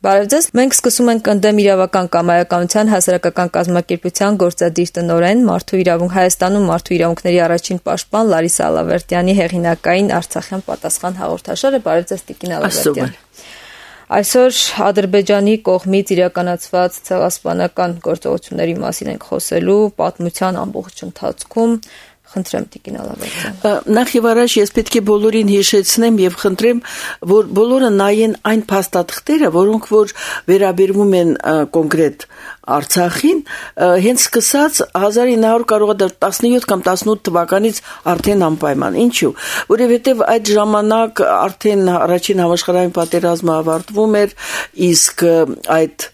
Բարև ձեզ։ Մենք սկսում ենք ընդդեմ իրավական կամայականության հասարակական կազմակերպության գործադիր տնօրեն Հայաստանում մարդու իրավունքների առաջին պաշտպան Լարիսա Ալավերդյանի հեղինակային Արցախյան պատասխան հաղորդաշարը։ Բարև ձեզ, Տիկին Ալավերդյան։ Այսօր Ադրբեջանի կողմից իրականացված ցեղասպանական գործողությունների մասին ենք խոսելու պատմության ամբողջ ընթացքում։ Խնդրեմ, Տիկին Ալավերդյան։ Նախ եւ առաջ ես պետք է բոլորին հիշեցնեմ եւ խնդրեմ, որ բոլորը նայեն այն փաստաթղթերը, որոնք որ վերաբերվում են կոնկրետ Արցախին, հենց սկսած 1900 կարող է 17 կամ 18 թվականից արդեն անպայման։ Ինչու՞։ Որովհետեւ այդ ժամանակ արդեն առաջին համաշխարհային պատերազմը ավարտվում էր, իսկ այդ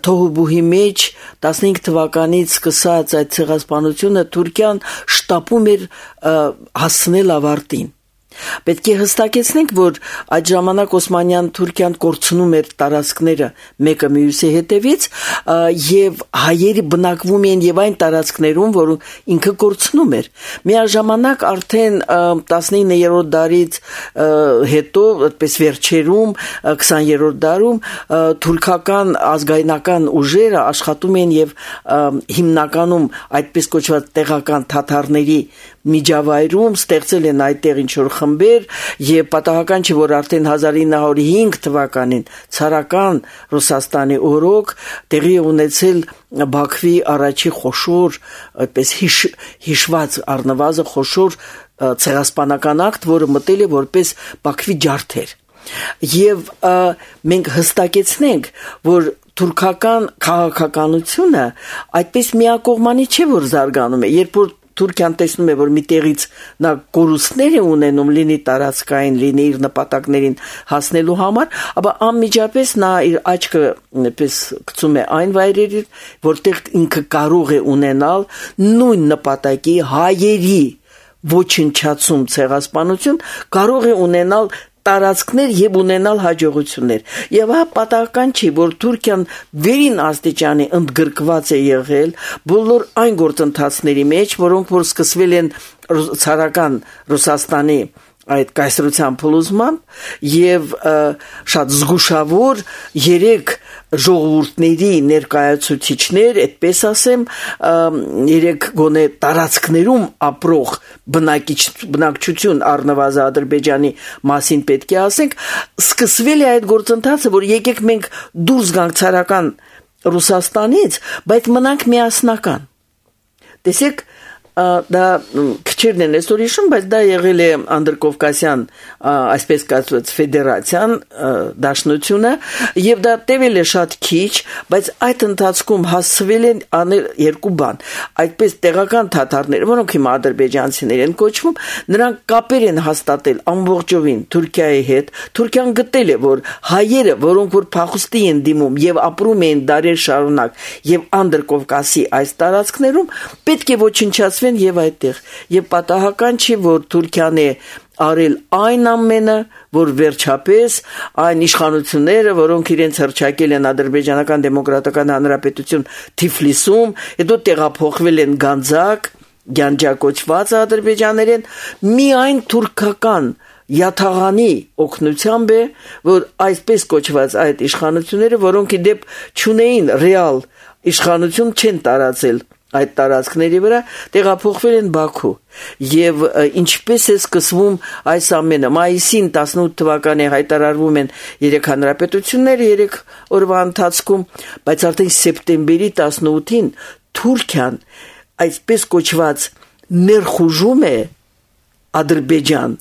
թոհուբուհի մեջ 15 թվականից սկսած այդ ցեղասպանությունը Թուրքիան շտապում էր հասցնել ավարտին։ Պետք է հստակեցնենք, որ այդ ժամանակ Օսմանյան Թուրքիան կորցնում էր տարածքները մեկը մյուսի հետևից եւ հայերը բնակվում էին եւ այն տարածքներում, որոնք ինքը կորցնում էր։ Միաժամանակ արդեն 19-րդ դարից հետո, այդպես վերջերում 20-րդ դարում թուրքական ազգայնական ուժերը աշխատում են եւ հիմնականում այդպես կոչված տեղական թաթարների միջավայրում ստեղծել են այդտեղ ինչ-որ խմբեր եւ պատահական չէ, որ արդեն 1905 թվականին ցարական Ռուսաստանի օրոք տեղի ունեցել Բաքվի առաջի խոշոր, այդպես հիշված առնվազն խոշոր ցեղասպանական ակտ, որը մտել է որպես Բաքվի ջարդեր։ Եվ մենք հստակեցնենք, որ թուրքական քաղաքականությունը այդպես միակողմանի չէ, որ զարգանում է, երբ որ Թուրքիան տեսնում է, որ մի տեղից նա կորուստներ է ունենում, լինի տարածքային, լինի իր նպատակներին հասնելու համար, ապա անմիջապես նա իր աչքը պես գցում է այն վայրերի, որտեղ ինքը կարող է ունենալ նույն նպատակի հայերի ոչնչացում ցեղասպանություն, կարող է ունենալ տարածքներ եւ ունենալ հաջողություններ։ Եվ հա պատահական չի, որ Թուրքիան վերին աստիճանի ընդգրկված է եղել բոլոր այն գործընթացների մեջ, որոնք որ սկսվել են ցարական Ռուսաստանի այդ կայսրության փլուզմամբ եւ շատ զգուշավոր 3 ժողովուրդների ներկայացուցիչներ, այդպես ասեմ, 3 գոնե տարածքներում ապրող բնակչություն առնվազն Ադրբեջանի մասին պետք է ասենք, սկսվել է այդ գործընթացը, որ եկեք մենք դուրս գանք ցարական Ռուսաստանից, բայց մնանք միասնական։ Տեսեք, դա քչերն են այսօր հիշում, բայց դա եղել է Անդրկովկասյան, այսպես կոչված ֆեդերացիան, դաշնությունը, եւ դա տևել է շատ քիչ, բայց այդ ընթացքում հասցվել են անել 2 բան։ Այդպես տեղական թաթարները, որոնք հիմա ադրբեջանցիներ են կոչվում, նրանք կապեր են հաստատել ամբողջովին Թուրքիայի հետ։ Թուրքիան գտել է, որ հայերը, որոնք որ փախուստի են դիմում եւ ապրում են դարեր շարունակ եւ Անդրկովկասի այս տարածքներում, պետք է ոչնչացվեն եւ այդտեղ։ Եվ պատահական չի, որ Թուրքիան է արել այն ամենը, որ վերջապես այն իշխանությունները, որոնք իրենց հռչակել են Ադրբեջանական դեմոկրատական հանրապետություն Թիֆլիսում, հետո տեղափոխվել են Գանձակ, Գյանջակոչված ադրբեջաներեն, միայն թուրքական յաթաղանի օգնությամբ է, որ այսպես կոչված այդ իշխանությունները, որոնք իդեպ չունեին ռեալ իշխանություն, չեն տարածել այդ տարածքների վրա, տեղափոխվել են Բաքու։ Եվ ինչպես է սկսվում այս ամենը, մայիսին 18 թվականի հայտարարվում են 3 հանրապետություններ 3 օրվա ընթացքում, բայց արդեն սեպտեմբերի 18-ին Թուրքիան այսպես կոչված ներխուժում է Ադրբեջան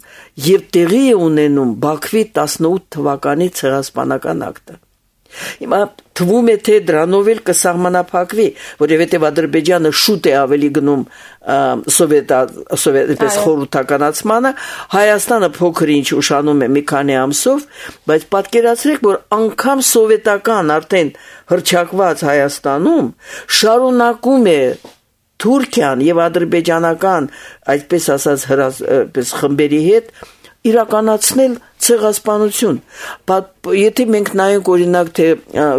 եւ տեղի է ունենում Բաքվի 18 թվականի ցեղասպանական ակտը։ Հիմա թվում է թե դրանով էլ կսահմանափակվի, որովհետև Ադրբեջանը շուտ է ավելի գնում սովետպես խորհրդականացմանը, Հայաստանը փոքր ինչ ուշանում է մի քանի ամսով, բայց պատկերացրեք, որ անգամ սովետական արդեն հռչակված Հայաստանում շարունակում է Թուրքիան եւ ադրբեջանական, այսպես ասած, խմբերի հետ իրականացնել ցեղասպանություն։ Եթե մենք նայենք օրինակ թե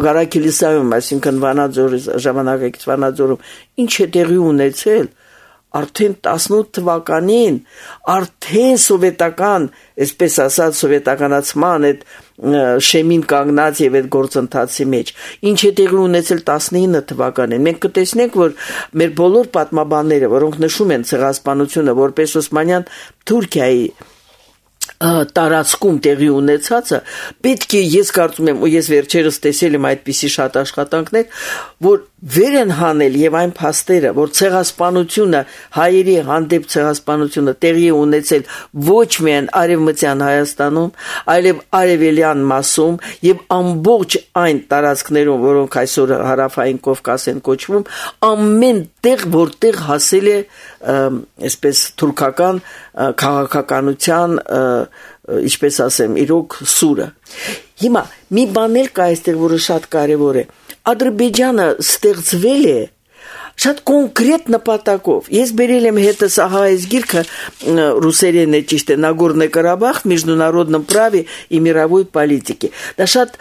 Ղարաքիլիսայում, այսինքն Վանաձորի ժամանակակից Վանաձորում ինչ է տեղի ունեցել, արդեն 18 թվականին արդեն սովետական, այսպես ասած, սովետականացման այդ շեմին կանգնած եւ այդ գործընթացի մեջ, ինչ է տեղի ունեցել 19 թվականին։ Մենք կտեսնենք, որ մեր բոլոր պատմաբանները, որոնք նշում են ցեղասպանությունը որպես Օսմանյան Թուրքիայի տարածքում տեղի ունեցածը, պետք է, ես կարծում եմ, ու ես վերջերս տեսել եմ այդպիսի շատ աշխատանքներ, որ վեր են հանել եւ այն փաստերը, որ ցեղասպանությունը, հայերի հանդեպ ցեղասպանությունը տեղի ունեցել ոչ միայն արևմտյան Հայաստանում, այլև արևելյան մասում եւ ամբողջ այն տարածքներում, որոնք այսօր հարավային Կովկաս են կոչվում, ամեն տեղ, որտեղ հասել է այսպես թուրքական քաղաքականության, ինչպես ասեմ, իրոք սուրը։ Հիմա մի բան էլ կա այստեղ, որը շատ կարևոր է։ Ադրբեջանը ստեղծվել է շատ կոնկրետ նպատակով։ Ես բերել եմ հետս ահա այս գիրքը ռուսերեն է, ճիշտ է, Նագորնոյ Կարաբախ международном праве и мировой политике։ Դա շատ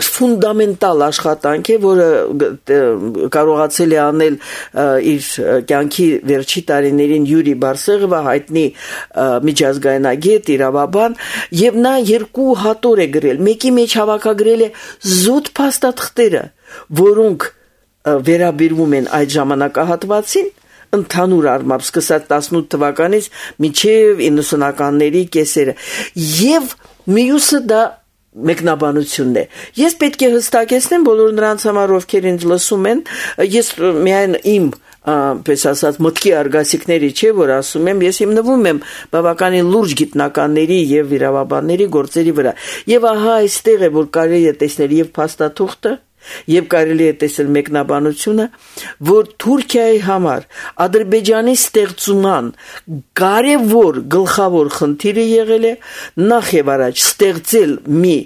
ֆունդամենտալ աշխատանք է, որը կարողացել է անել իր կյանքի վերջի տարիներին Յուրի Բարսեղովը, հայտնի միջազգայնագետ, իրավաբան, եւ նա երկու հատոր է գրել։ Մեկի մեջ հավաքագրել է զուտ փաստաթղթերը, որոնք վերաբերվում են այդ ժամանակահատվածին, ընդհանուր առմամբ սկսած 18 թվականից մինչև 90-ականների կեսերը, եւ մյուսը դա մեկնաբանությունն է։ Ես պետք է հստակեցնեմ բոլոր նրանց համար, ովքեր ինձ լսում են, ես միայն իմ պես ասած մտքի արգասիքների չէ, որ ասում եմ, ես հիմնվում եմ բավականին լուրջ գիտնականների եւ իրավաբանների գործերի վրա։ Եվ ահա այստեղ է, որ կարելի է տեսնել եւ փաստաթուղթը, եւ կարելի է տեսնել մեկնաբանությունը, որ Թուրքիայի համար Ադրբեջանի ստեղծման կարևոր գլխավոր խնդիրը եղել է նախ եւ առաջ ստեղծել մի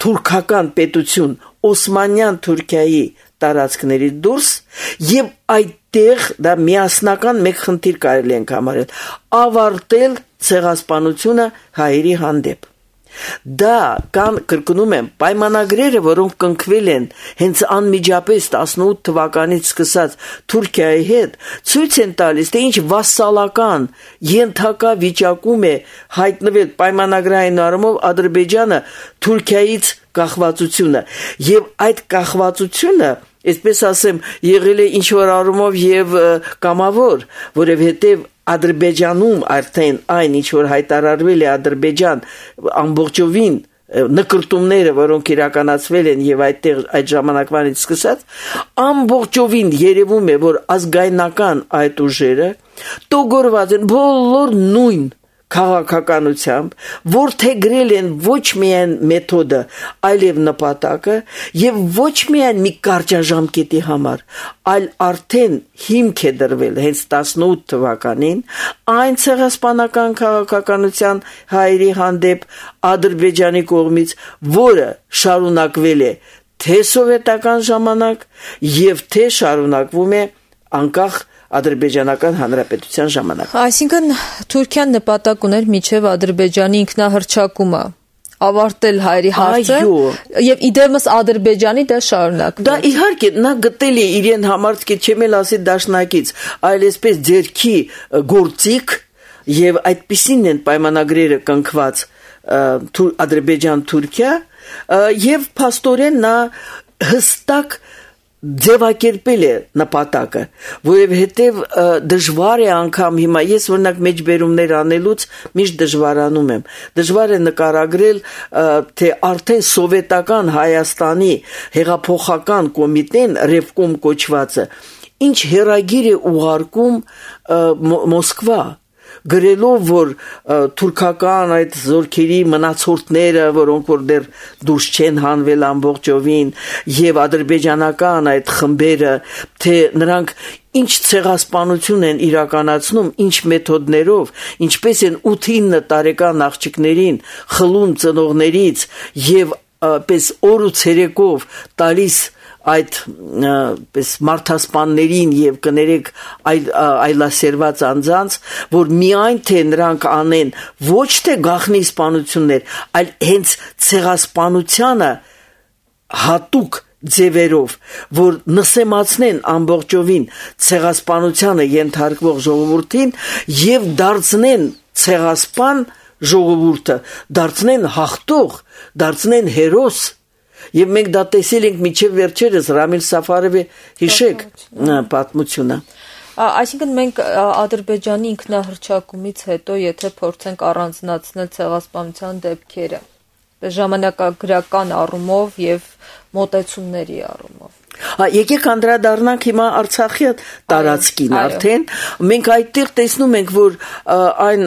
թուրքական պետություն Օսմանյան Թուրքիայի տարածքների դուրս եւ այդտեղ դա միասնական մեկ խնդիր կարելի ենք համարել ավարտել ցեղասպանությունը հայերի հանդեպ։ Դա կան, կրկնում եմ, պայմանագրերը, որոնք կնքվել են հենց անմիջապես 18 թվականից սկսած Թուրքիայի հետ, ցույց են տալիս, թե ինչ վասսալական ենթակա վիճակում է հայտնվել պայմանագրային առումով Ադրբեջանը Թուրքիայից կախվածությունը, եւ այդ կախվածությունը, այսպես ասեմ, եղել է ինչ-որ առումով եւ կամավոր, որովհետեւ Ադրբեջանում արդեն այն ինչ որ հայտարարվել է Ադրբեջան ամբողջովին նկրտումները, որոնք իրականացվել են եւ այդտեղ այդ ժամանակվանից սկսած, ամբողջովին երևում է, որ ազգայնական այդ ուժերը տոգորված են բոլոր նույն քաղաքականությամբ, որթեգրել են ոչ միայն մեթոդը, այլև նպատակը եւ ոչ միայն մի կարճաժամկետի համար, այլ արդեն հիմք է դրվել հենց 18 թվականին այն ցեղասպանական քաղաքականության հայերի հանդեպ Ադրբեջանի կողմից, որը շարունակվել է թե սովետական ժամանակ եւ թե շարունակվում է անկախ Ադրբեջանական հանրապետության ժամանակ։ Այսինքն Թուրքիան նպատակ ուներ միջև Ադրբեջանի ինքնահռչակումը ավարտել հայերի հարցը եւ իդեմս Ադրբեջանի դա շարունակվել։ Դա իհարկե նա գտել է իրեն համար, չեմ էլ ասի դաշնակից, այլ այսպես ձերքի գործիք եւ այդպիսին են պայմանագրերը կնքված Ադրբեջան-Թուրքիա եւ փաստորեն նա հստակ ձևակերպել է նպատակը, որովհետև դժվար է անգամ հիմա ես օրինակ մեջբերումներ անելուց միշտ դժվարանում եմ։ Դժվար է նկարագրել, թե արդեն սովետական Հայաստանի հեղափոխական կոմիտեն Ռևկոմ կոչվածը ինչ հերագիր է ուղարկում Մոսկվա, գրելով, որ թուրքական այդ զորքերի մնացորդները, որոնք որ դեռ դուրս չեն հանվել ամբողջովին, եւ ադրբեջանական այդ խմբերը, թե նրանք ինչ ցեղասպանություն են իրականացնում, ինչ մեթոդներով, ինչպես են 8-9 տարեկան աղջիկներին խլում ծնողներից եւ պես օր ու ցերեկով տալիս այդ պես մարդասպաններին եւ կներեք այլասերված անձանց, որ միայն թե նրանք անեն ոչ թե գաղտնի սպանություններ, այլ հենց ցեղասպանությանը հատուկ ձևերով, որ նսեմացնեն ամբողջովին ցեղասպանությանը ենթարկվող ժողովրդին եւ դարձնեն ցեղասպան ժողովուրդը, դարձնեն հաղթող, դարձնեն հերոս։ Եվ մենք դա տեսել ենք միջև վերջերս Ռամիլ Սաֆարովի հիշեք պատմությունը։ Այսինքն մենք Ադրբեջանի ինքնահռչակումից հետո, եթե փորձենք առանձնացնել ցեղասպանության դեպքերը, ժամանակագրական առումով եւ մոտեցումների առումով։ Եկեք անդրադառնանք հիմա Արցախի տարածքին արդեն։ Մենք այդտեղ տեսնում ենք, որ այն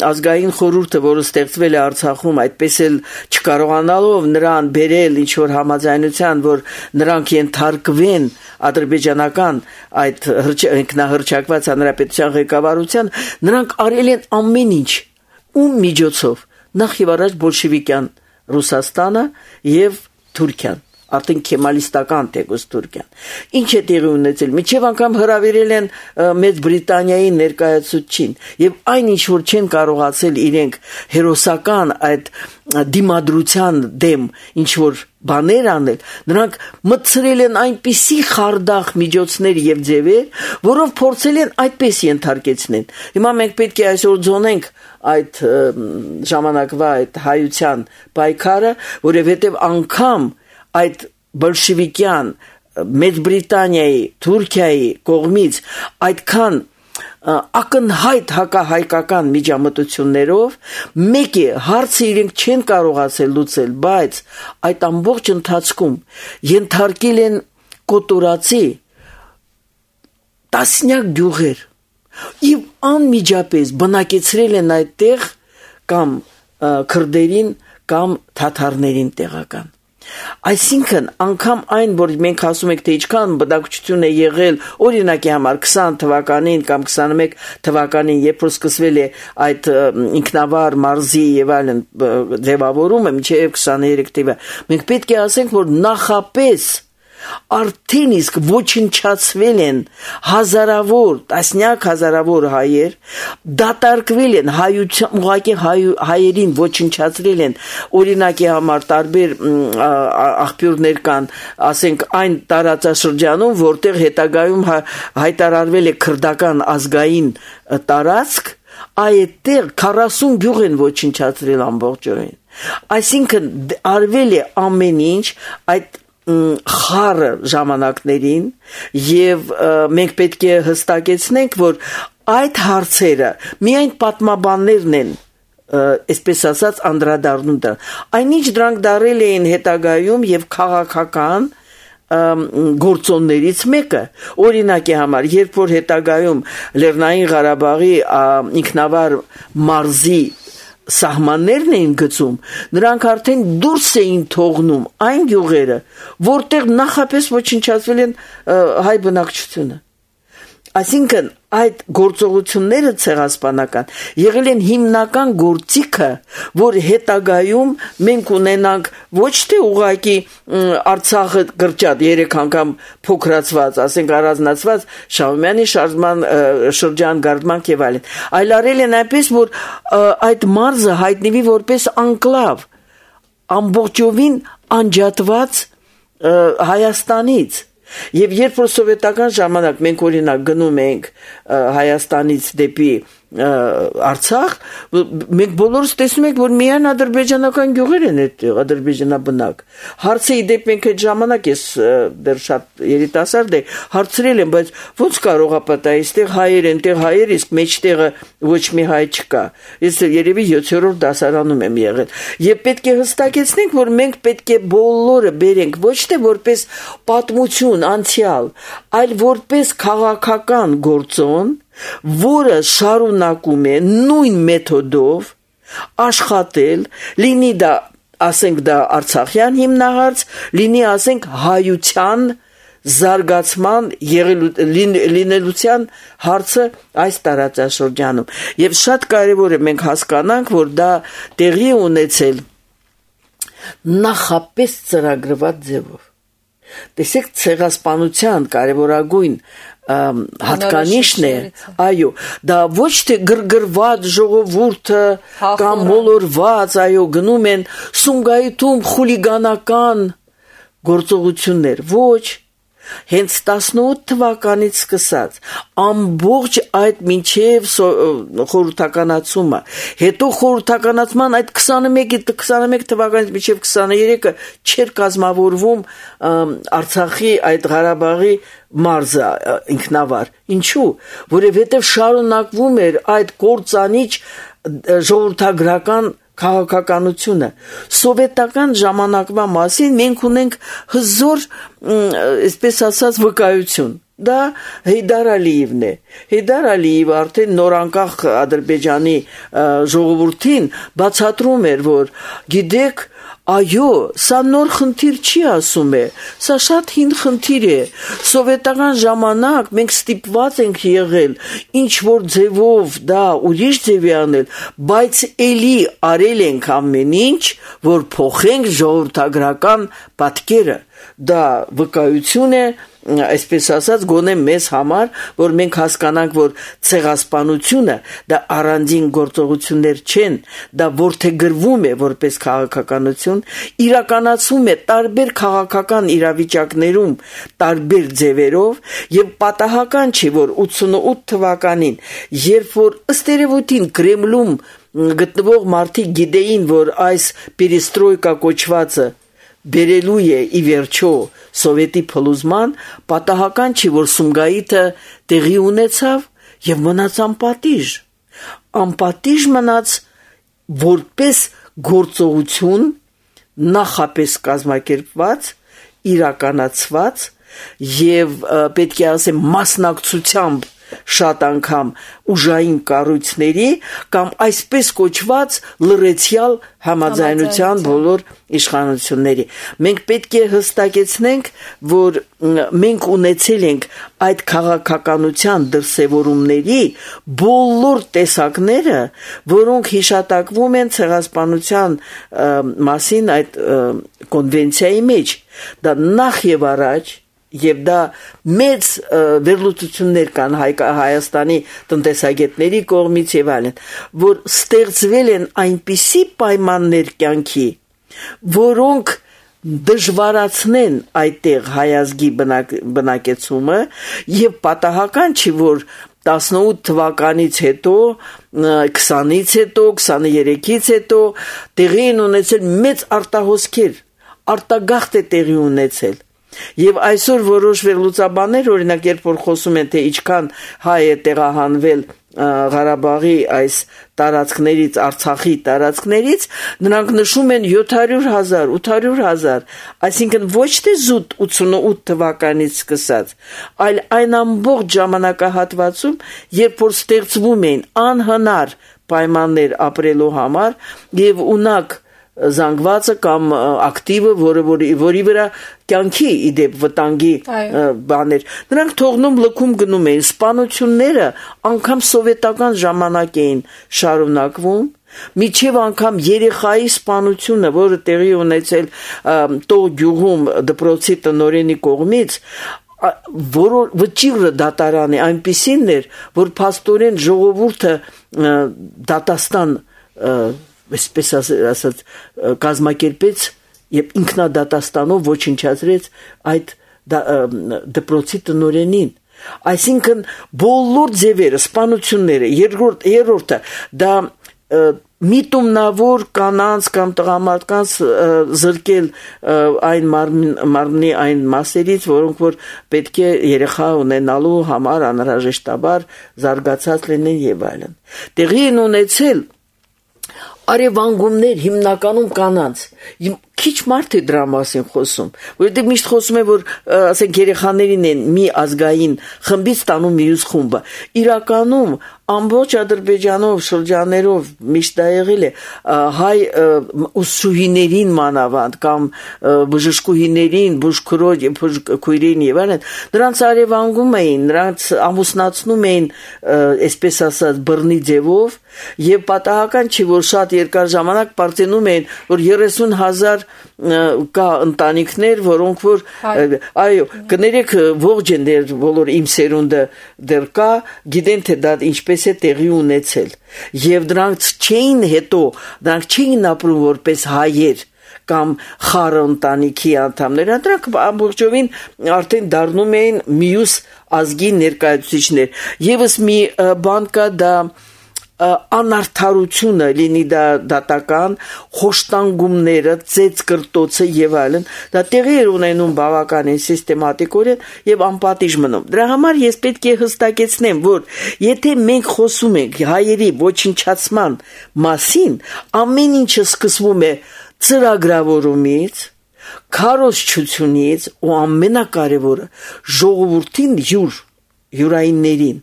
ազգային խորհուրդը, որը ստեղծվել է Արցախում, այդպես էլ չկարողանալով նրան բերել ինչ որ համաձայնության, որ նրանք ենթարկվեն ադրբեջանական այդ ինքնահռչակված հանրապետության ղեկավարության, նրանք արել են ամեն ինչ ում միջոցով, նախ եւ առաջ բոլշևիկյան Ռուսաստանը եւ Թուրքիան, արդեն կեմալիստական թեկուզ Թուրքիան։ Ինչ է տեղի ունեցել, միջև անգամ հրավիրել են Մեծ Բրիտանիայի ներկայացուցչին եւ այն ինչ որ չեն կարողացել իրենք հերոսական այդ դիմադրության դեմ ինչ որ բաներ անել, նրանք մտցրել են այնպիսի խարդախ միջոցներ եւ ձևեր, որով փորձել են այդպես ենթարկեցնել։ Հիմա մենք պետք է այսօր ձոնենք այդ ժամանակվա այդ հայության պայքարը, որովհետեւ անգամ այդ բոլշևիկյան Մեծ Բրիտանիայի, Թուրքիայի կողմից այդքան ակնհայտ հակահայկական միջամտություններով մեկի հարցը իրենք չեն կարողացել լուծել, բայց այդ ամբողջ ընթացքում ենթարկել են կոտորածի տասնյակ գյուղեր եւ անմիջապես բնակեցրել են այդտեղ կամ քրդերին կամ թաթարներին տեղական։ Այսինքն անգամ այն, որ մենք ասում ենք, թե ինչքան բնակչություն է եղել, օրինակի համար 20 թվականին կամ 21 թվականին, երբ որ սկսվել է այդ ինքնավար մարզի եւ այլն ձևավորումը, մինչեւ 23 թվականը, մենք պետք է ասենք, որ նախապես արդեն իսկ ոչնչացվել են հազարավոր, տասնյակ հազարավոր հայեր, դատարկվել են ուղղակի հայերին ոչնչացրել են, օրինակի համար տարբեր աղբյուրներ կան, ասենք այն տարածաշրջանում, որտեղ հետագայում հայտարարվել է քրդական ազգային տարածք, այդտեղ 40 գյուղ են ոչնչացրել ամբողջովին։ Այսինքն արվել է ամեն ինչ այդ խառը ժամանակներին եւ մենք պետք է հստակեցնենք, որ այդ հարցերը միայն պատմաբաններն են, այսպես ասած, անդրադառնում դրան։ Այնինչ դրանք դարել էին հետագայում եւ քաղաքական գործոններից մեկը, օրինակի համար, երբ որ հետագայում Լեռնային Ղարաբաղի ինքնավար մարզի սահմաններն էին գծում, նրանք արդեն դուրս էին թողնում այն գյուղերը, որտեղ նախապես ոչնչացվել են հայ բնակչությունը։ Այսինքն այդ գործողությունները ցեղասպանական եղել են հիմնական գործիքը, որ հետագայում մենք ունենանք ոչ թե ուղղակի Արցախը գրճատ 3 անգամ փոքրացված, ասենք առանձնացված Շահումյանի շրջան գարդմանք եւ այլն, այլ արել են այնպես, որ այդ մարզը հայտնվի որպես անկլավ, ամբողջովին անջատված Հայաստանից։ Եվ երբ որ սովետական ժամանակ մենք օրինակ գնում ենք Հայաստանից դեպի Արցախ, մենք բոլորս տեսնում ենք, որ միայն ադրբեջանական գյուղեր են այդտեղ, ադրբեջանաբնակ։ Հարցը իդեպ մենք այդ ժամանակ ես դեռ շատ երիտասարդ եմ, հարցրել եմ, բայց ո՞նց կարող է պատահել, այստեղ հայեր են, այդտեղ հայեր, իսկ մեջտեղը ոչ մի հայ չկա։ Ես երևի 7-րդ դասարանում եմ եղել։ Եվ պետք է հստակեցնենք, որ մենք պետք է բոլորը բերենք ոչ թե որպես պատմություն, անցյալ, այլ որպես քաղաքական գործոն, որը շարունակում է նույն մեթոդով աշխատել, լինի դա, ասենք դա Արցախյան հիմնահարց, լինի ասենք հայության զարգացման լինելության հարցը այս տարածաշրջանում։ Եվ շատ կարևոր է մենք հասկանանք, որ դա տեղի ունեցել նախապես ծրագրված ձևով։ Տեսեք, ցեղասպանության կարևորագույն հատկանիշն է, այո, դա ոչ թե գրգռված ժողովուրդը կամ մոլորված, այո, գնում են Սումգայիթում խուլիգանական գործողություններ, ոչ, հենց 18 թվականից սկսած ամբողջ այդ մինչև խորհրդականացումը, հետո խորհրդականացման այդ 21 թվականից մինչև 23-ը չէր կազմավորվում Արցախի այդ Ղարաբաղի մարզը ինքնավար, ինչու, որովհետև շարունակվում էր այդ կործանիչ ժողովրդագրական քաղաքականությունը սովետական ժամանակվա մասին մենք ունենք հզոր, այսպես ասած, վկայություն։ Դա Հեյդար Ալիևն է։ Հեյդար Ալիևը արդեն նորանկախ Ադրբեջանի ժողովրդին բացատրում էր, որ գիտեք, այո, սա նոր խնդիր չի ասում է, սա շատ հին խնդիր է, սովետական ժամանակ մենք ստիպված ենք եղել, ինչ որ ձևով դա ուրիշ ձևի անել, բայց էլի արել ենք ամեն ինչ, որ փոխենք ժողովրդագրական պատկերը, դա վկայություն է, այսպես ասած, գոնե մեզ համար, որ մենք հասկանանք, որ ցեղասպանությունը դա առանձին գործողություններ չեն, դա որդեգրվում է որպես քաղաքականություն, իրականացվում է տարբեր քաղաքական իրավիճակներում, տարբեր ձևերով եւ պատահական չի, որ 88 թվականին, երբ որ ըստ երևույթին Կրեմլում գտնվող մարդիկ գիտեին, որ այս պերեստրոյկա կոչվածը բերելու է ի վերջո սովետի փլուզման, պատահական չի, որ Սումգայիթը տեղի ունեցավ եւ մնաց անպատիժ։ Անպատիժ մնաց որպես գործողություն նախապես կազմակերպված, իրականացված եւ պետք է ասեմ մասնակցությամբ շատ անգամ ուժային կառույցների կամ այսպես կոչված լրացիալ համաձայնության բոլոր իշխանությունների։ Մենք պետք է հստակեցնենք, որ մենք ունեցել ենք այդ քաղաքականության դրսևորումների բոլոր տեսակները, որոնք հիշատակվում են ցեղասպանության մասին այդ կոնվենցիայի մեջ։ Դա նախ եւ առաջ եւ դա մեծ վերլուծություններ կան Հայաստանի տնտեսագետների կողմից եւ այլն, որ ստեղծվել են այնպիսի պայմաններ կյանքի, որոնք դժվարացնեն այդտեղ հայազգի բնակեցումը եւ պատահական չի, որ 18 թվականից հետո, 20-ից հետո, 23-ից հետո տեղի են ունեցել մեծ արտահոսքեր, արտագաղթ է տեղի ունեցել։ Եվ այսօր որոշ վերլուծաբաններ, օրինակ, երբ որ խոսում են, թե ինչքան հայ է տեղահանվել Ղարաբաղի այս տարածքներից, Արցախի տարածքներից, նրանք նշում են 700,000, 800,000, այսինքն ոչ թե զուտ 88 թվականից սկսած, այլ այն ամբողջ ժամանակահատվածում, երբ որ ստեղծվում էին անհնար պայմաններ ապրելու համար եւ ունակ զանգվածը կամ ակտիվը, որի վրա կյանքի իդեպ վտանգի բաներ, նրանք թողնում լքում գնում էին, սպանությունները անգամ սովետական ժամանակ էին շարունակվում, միջև անգամ երեխայի սպանությունը, որը տեղի ունեցել Տող գյուղում դպրոցի տնօրենի կողմից, վճիռը դատարանի այնպիսին էր, որ փաստորեն ժողովուրդը դատաստան այսպես ասած կազմակերպեց եւ ինքնադատաստանով ոչնչացրեց այդ դպրոցի տնօրենին։ Այսինքն բոլոր ձևերը, սպանությունները, երրորդը դա միտումնավոր կանանց կամ տղամարդկանց զրկել այն մարմնի այն մասերից, որոնք որ պետք է երեխա ունենալու համար անհրաժեշտաբար զարգացած լինեն եւ այլն։ Տեղի են ունեցել արևանգումներ հիմնականում կանանց։ Քիչ մարդ է դրա մասին խոսում, որովհետև միշտ խոսում է, որ ասենք երեխաներին են մի ազգային խմբից տանում մյուս խումբը։ Իրականում ամբողջ Ադրբեջանով շրջաներով միշտ դա եղել է հայ ուսուցիչներին մանավանդ կամ բժշկուհիներին, բուժքրոջ, քույրերին եւ այլն, նրանց արևանգում էին, նրանց ամուսնացնում էին, այսպես ասած, բռնի ձևով եւ պատահական չի, որ շատ երկար ժամանակ պարծենում էին, որ 30,000 կա ընտանիքներ, որոնք որ այո, կներեք ողջ են դեր բոլոր իմ սերունդը դեռ կա, գիտեն թե դա ինչպես է տեղի ունեցել։ Եվ դրանք չէին հետո, դրանք չէին ապրում որպես հայեր կամ խառը ընտանիքի անդամներ, դրանք ամբողջովին արդեն դառնում էին մյուս ազգի ներկայացուցիչներ։ Եվս մի բան կա, դա անարդարությունը, լինի դա դատական, խոշտանգումները, ծեծ կրտոցը եւ այլն, դա տեղի էր ունենում բավականին սիստեմատիկորեն եւ անպատիժ մնում։ Դրա համար ես պետք է հստակեցնեմ, որ եթե մենք խոսում ենք հայերի ոչնչացման մասին, ամեն ինչը սկսվում է ծրագրավորումից, քարոզչությունից ու ամենակարևորը ժողովրդին յուրայիններին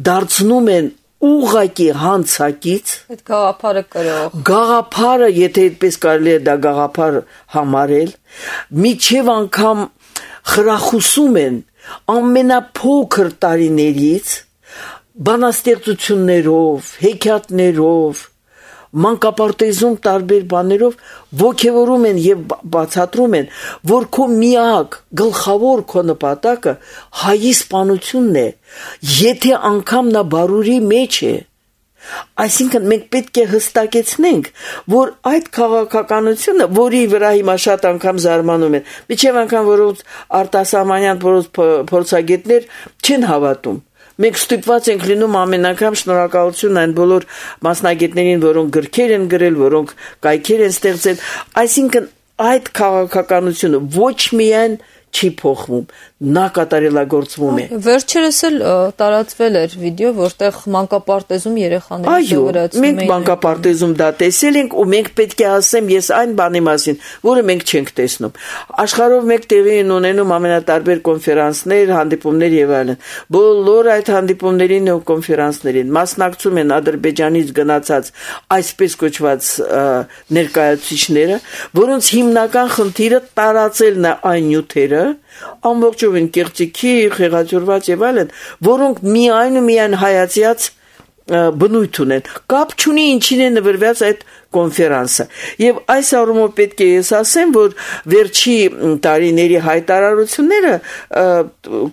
դարձնում են ուղղակի հանցակից, այդ գաղափարը կրող, գաղափարը, եթե այդպես կարելի է դա գաղափար համարել, միջև անգամ խրախուսում են ամենափոքր տարիներից բանաստեղծություններով, հեքիաթներով, մանկապարտեզում տարբեր բաներով ոգևորում են եւ բացատրում են, որ քո միակ գլխավոր քո նպատակը հայի սպանությունն է, եթե անգամ նա բարուրի մեջ է։ Այսինքն մենք պետք է հստակեցնենք, որ այդ քաղաքականությունը, որի վրա հիմա շատ անգամ զարմանում են, միջև անգամ որոնց արտասահմանյան փորձագետներ չեն հավատում։ Մենք ստիպված ենք լինում ամեն անգամ շնորհակալություն այն բոլոր մասնագետներին, որոնք գրքեր են գրել, որոնք կայքեր են ստեղծել, այսինքն այդ քաղաքականությունը ոչ միայն չի փոխվում, նա կատարելագործվում է։ Վերջերս էլ տարածվել էր վիդեո, որտեղ մանկապարտեզում երեխաների Այո, սովորացնում մենք մանկապարտեզում դա տեսել ենք ու մենք պետք է ասեմ ես այն բանի մասին, որը մենք չենք տեսնում։ Աշխարհով մեկ տեղի են ունենում ամենատարբեր կոնֆերանսներ, հանդիպումներ եւ այլն։ Բոլոր այդ հանդիպումներին ու կոնֆերանսներին մասնակցում են Ադրբեջանից գնացած այսպես կոչված ներկայացուցիչները, որոնց հիմնական խնդիրը տարածելն է այն նյութերը, ամբողջովին կեղծիքի, խեղաթյուրված եւ այլն, որոնք միայն հայացյաց բնույթ ունեն, կապ չունի ինչին է նվիրված այդ կոնֆերանսը։ Եվ այս առումով պետք է ես ասեմ, որ վերջի տարիների հայտարարությունները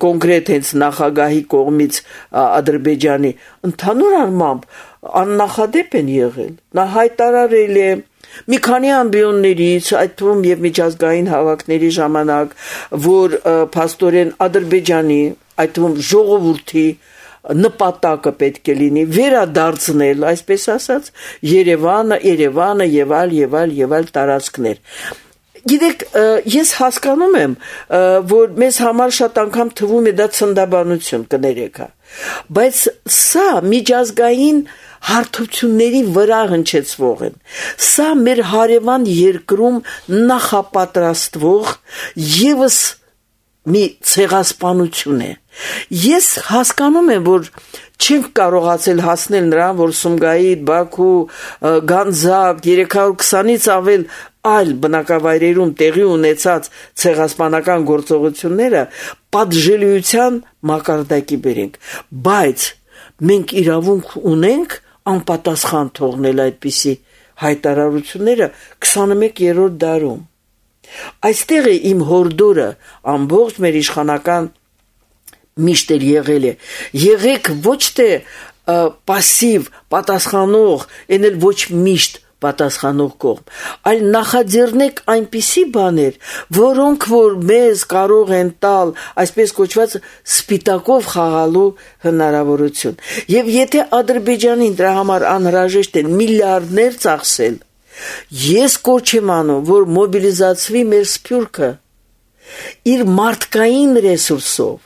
կոնկրետ հենց նախագահի կողմից Ադրբեջանի ընդհանուր առմամբ աննախադեպ են եղել։ Նա հայտարարել է մի քանի ամբիոններից, այդ թվում եւ միջազգային հավաքների ժամանակ, որ փաստորեն Ադրբեջանի, այդ թվում ժողովրդի նպատակը պետք է լինի վերադարձնել, այսպես ասած, Երևանը եւ այլ տարածքներ։ Գիտեք, ես հասկանում եմ, որ մեզ համար շատ անգամ թվում է դա ցնդաբանություն, կներեք, բայց սա միջազգային հարթությունների վրա հնչեցվող են։ Սա մեր հարևան երկրում նախապատրաստվող եւս մի ցեղասպանություն է։ Ես հասկանում եմ, որ չենք կարողացել հասնել նրան, որ Սումգայիթ, Բաքու, Գանձակ, 320-ից ավել այլ բնակավայրերում տեղի ունեցած ցեղասպանական գործողությունները պատժելիության մակարդակի բերենք, բայց մենք իրավունք ունենք անպատասխան թողնել այդպիսի հայտարարությունները 21-րդ դարում։ Այստեղ է իմ հորդորը ամբողջ մեր իշխանական միշտ էլ եղել է։ Եղեք ոչ թե պասիվ պատասխանող, այն էլ ոչ միշտ պատասխանող կողմ, այլ նախաձեռնեք այնպիսի բաներ, որոնք որ մեզ կարող են տալ այսպես կոչված սպիտակով խաղալու հնարավորություն։ Եվ եթե Ադրբեջանին դրա համար անհրաժեշտ են միլիարդներ ծախսել, ես կոչ եմ անում, որ մոբիլիզացվի մեր սփյուռքը իր մարդկային ռեսուրսով,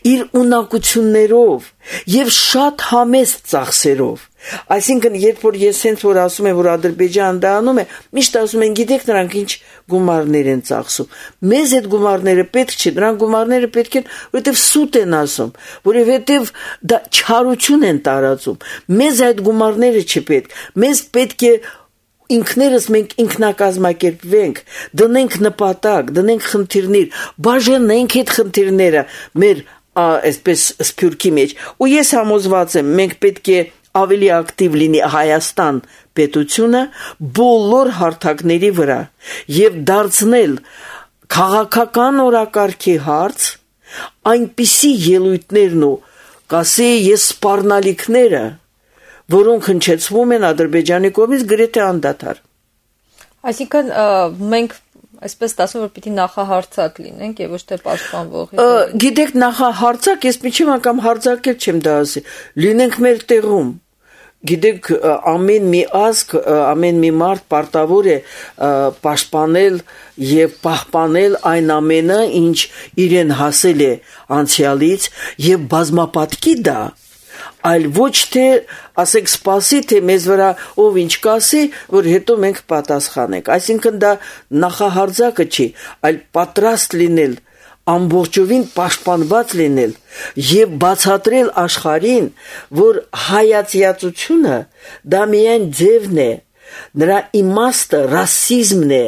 իր ունակություններով եւ շատ համեստ ծախսերով։ Այսինքն, երբ որ ես հենց որ ասում եմ, որ Ադրբեջանը դա անում է, միշտ ասում են, գիտեք, նրանք ինչ գումարներ են ծախսում։ Մեզ այդ գումարները պետք չէ, նրանք գումարները պետք են, որովհետև սուտ են ասում, որովհետև դա չարություն են տարածում։ Մեզ այդ գումարները չպետք։ Մեզ պետք է ինքներս մենք ինքնակազմակերպվենք, դնենք նպատակ, դնենք խնդիրներ, բաժանենք այդ խնդիրները մեր այսպես սփյուռքի մեջ։ Ու ես համոզված եմ, մենք պետք է ավելի ակտիվ լինի Հայաստան պետությունը բոլոր հարթակների վրա եւ դարձնել քաղաքական օրակարգի հարց այնպիսի ելույթներն ու կասեի ես սպառնալիքները, որոնք հնչեցվում են Ադրբեջանի կողմից գրեթե անդադար։ Այսինքն մենք այսպես ասում որ պիտի նախահարցակ լինենք եւ ոչ թե պաշտպանվող։ Գիտեք, նախահարցակ, ես միջին անգամ հարձակել չեմ դա ասի։ Լինենք մեր տեղում։ Գիտեք, ամեն մի ազգ, ամեն մի մարդ պարտավոր է պաշտպանել եւ պահպանել այն ամենը, ինչ իրեն հասել է անցյալից եւ բազմապատկի դա, այլ ոչ թե ասեք սպասի, թե մեզ վրա ով ինչ կասի, որ հետո մենք պատասխանենք։ Այսինքն դա նախահարձակը չի, այլ պատրաստ լինել, ամբողջովին պաշտպանված լինել եւ բացատրել աշխարհին, որ հայացյացությունը դա միայն ձևն է, նրա իմաստը ռասիզմն է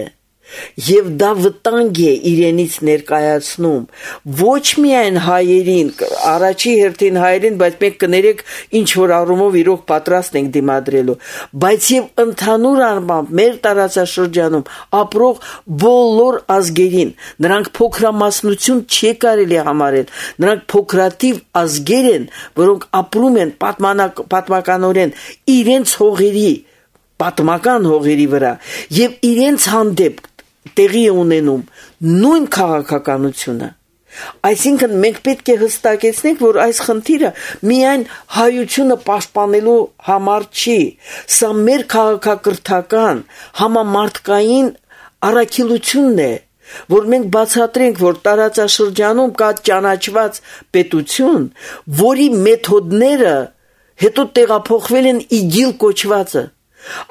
եւ դա վտանգ է իրենից ներկայացնում ոչ միայն հայերին, առաջի հերթին հայերին, բայց մենք կներեք ինչ որ առումով իրոք պատրաստ ենք դիմադրելու, բայց եւ ընդհանուր առմամբ մեր տարածաշրջանում ապրող բոլոր ազգերին, նրանք փոքրամասնություն չի կարելի համարել, նրանք փոքրաթիվ ազգեր են, որոնք ապրում են պատմականորեն իրենց հողերի, պատմական հողերի վրա եւ իրենց հանդեպ տեղի ունենում նույն քաղաքականությունը։ Այսինքն մենք պետք է հստակեցնենք, որ այս խնդիրը միայն հայությունը պաշտպանելու համար չի, սա մեր քաղաքակրթական համամարտկային առաքելությունն է, որ մենք բացատրենք, որ տարածաշրջանում կա ճանաչված պետություն, որի մեթոդները հետո տեղափոխվել են իգիլ կոչվածը։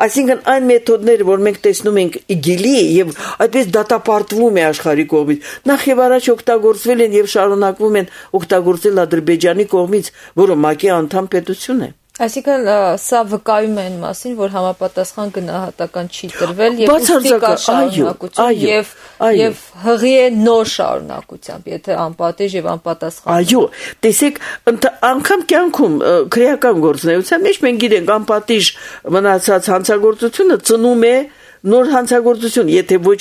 Այսինքն այն մեթոդները, որ մենք տեսնում ենք իգիլի եւ այդպես դատապարտվում է աշխարհի կողմից, նախ եւ առաջ օգտագործվել են եւ շարունակվում են օգտագործել Ադրբեջանի կողմից, որը ՄԱԿ-ի անդամ պետություն է։ Այսինքն սա վկայում է այն մասին, որ համապատասխան գնահատական չի տրվել եւ ուստի կա շարունակություն եւ հղի է նոր շարունակությամբ, եթե անպատիժ եւ անպատասխան։ Այո, տեսեք, անգամ կյանքում քրեական գործունեության մեջ մենք գիտենք անպատիժ մնացած հանցագործությունը ծնում է նոր հանցագործություն, եթե ոչ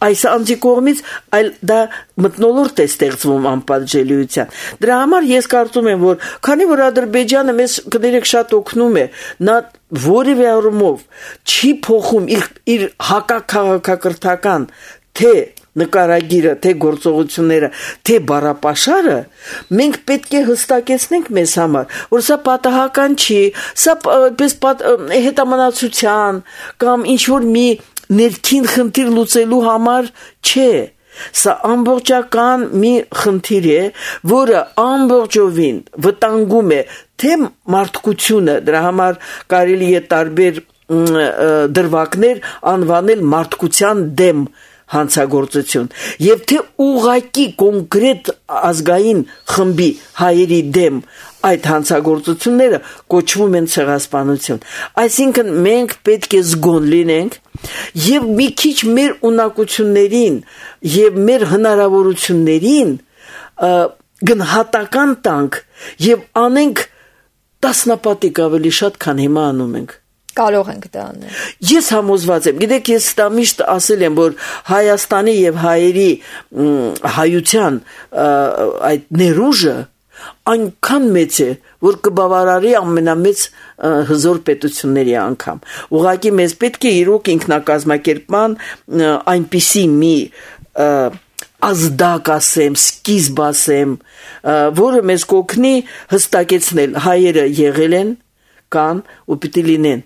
այս անձի կողմից, այլ դա մթնոլորտ է ստեղծվում անպատժելիության։ Դրա համար ես կարծում եմ, որ քանի որ Ադրբեջանը մեզ կներեք շատ օգնում է, նա որևէ առումով չի փոխում իր հակաքաղաքակրթական թե նկարագիրը, թե գործողությունները, թե բառապաշարը, մենք պետք է հստակեցնենք մեզ համար, որ սա պատահական չի, սա հետամնացության կամ ինչ-որ մի ներքին խնդիր լուծելու համար չէ, սա ամբողջական մի խնդիր է, որը ամբողջովին վտանգում է թե մարդկությունը, դրա համար կարելի է տարբեր դրվագներ անվանել մարդկության դեմ հանցագործություն եւ թե ուղակի կոնկրետ ազգային խմբի հայերի դեմ այդ հանցագործությունները կոչվում են ցեղասպանություն։ Այսինքն մենք պետք է զգոն լինենք եւ մի քիչ մեր ունակություններին եւ մեր հնարավորություններին գնահատական տանք եւ անենք տասնապատիկ ավելի շատ, քան հիմա անում ենք։ Կարող ենք դա անել։ Ես համոզված եմ, գիտեք, ես դա միշտ ասել եմ, որ Հայաստանի եւ հայերի հայության այդ ներուժը այնքան մեծ է, որ կբավարարի ամենամեծ հզոր պետությունների անգամ։ Ուղղակի մեզ պետք է իրոք ինքնակազմակերպման այնպիսի մի ազդակ ասեմ, սկիզբ ասեմ, որը մեզ կօգնի հստակեցնել հայերը եղել են, կան ու պիտի լինեն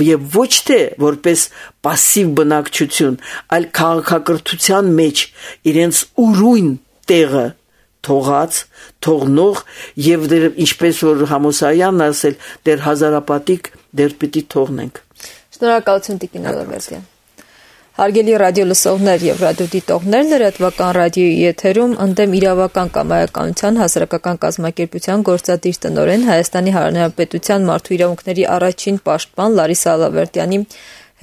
եւ ոչ թե որպես пассив բնակչություն, այլ քաղաքակրթության մեջ իրենց ուրույն տեղը թողած, թողնող եւ դեր ինչպես որ Համոսայանն ասել, դեր հազարապատիկ դեր պիտի թողնենք։ Շնորհակալություն Տիկին Ալավերդյան։ Հարգելի ռադիո լսողներ եւ ռադիոդիտողներ, լրատվական ռադիոյի եթերում ընդդեմ իրավական կամայականության հասարակական կազմակերպության գործադիր տնօրեն Հայաստանի Հանրապետության մարդու իրավունքների առաջին պաշտպան Լարիսա Ալավերդյանի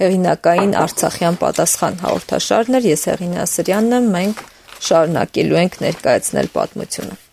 հեղինակային Արցախյան պատասխան հաղորդաշարն էր։ Ես Հեղինե Ասրյանն եմ, մենք շարունակելու ենք ներկայացնել պատմությունը։